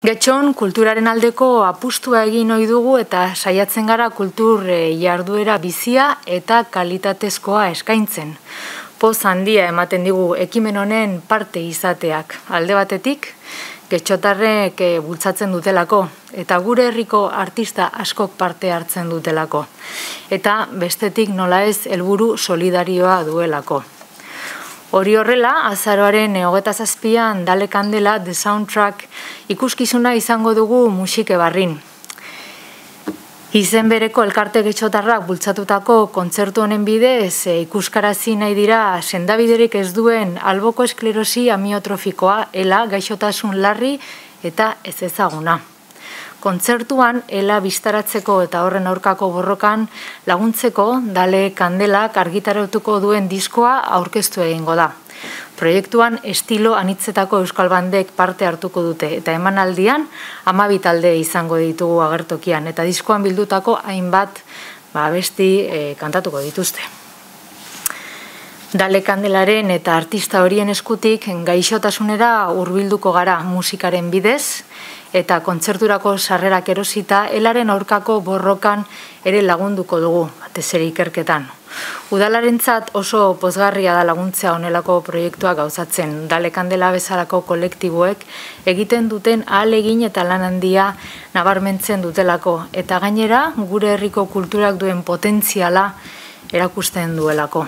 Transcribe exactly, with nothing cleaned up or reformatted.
Getxon, kulturaren aldeko apustua egin ohi dugu eta saiatzen gara kultur jarduera bizia eta kalitatezkoa eskaintzen. Poz handia ematen digu ekimen honen parte izateak. Alde batetik, getxotarrek bultzatzen dutelako eta gure herriko artista askok parte hartzen dutelako. Eta bestetik nola ez helburu solidarioa duelako. Hori horrela, azaroaren hogeita zazpian Dale Kandela The Soundtrack ikuskizuna izango dugu Musike Barrin. Izen bereko elkarte getxotarrak bultzatutako kontzertu honen bidez ikuskarazi nahi dira sendabiderik ez duen alboko esklerosi amiotrofikoa, ela gaixotasun larri eta ez ezaguna. Kontzertuan, ela biztaratzeko eta horren aurkako borrokan laguntzeko Dale Kandelak argitaratuko duen diskoa aurkeztu egingo da. Proiektuan estilo anitzetako euskal bandek parte hartuko dute eta emanaldian hamabi talde izango ditugu agertokian eta diskoan bildutako hainbat abesti kantatuko dituzte. Dale Kandelaren eta artista horien eskutik gaixotasunera hurbilduko gara musikaren bidez eta kontzerturako sarrerak erosita elaren aurkako borrokan ere lagunduko dugu, batez ere ikerketan. Udalarentzat oso pozgarria da laguntzea honelako proiektuak gauzatzen. Dale Kandela bezalako kolektiboek egiten duten ahalegin eta lan handia nabarmentzen dutelako eta gainera gure herriko kulturak duen potentziala erakusten duelako.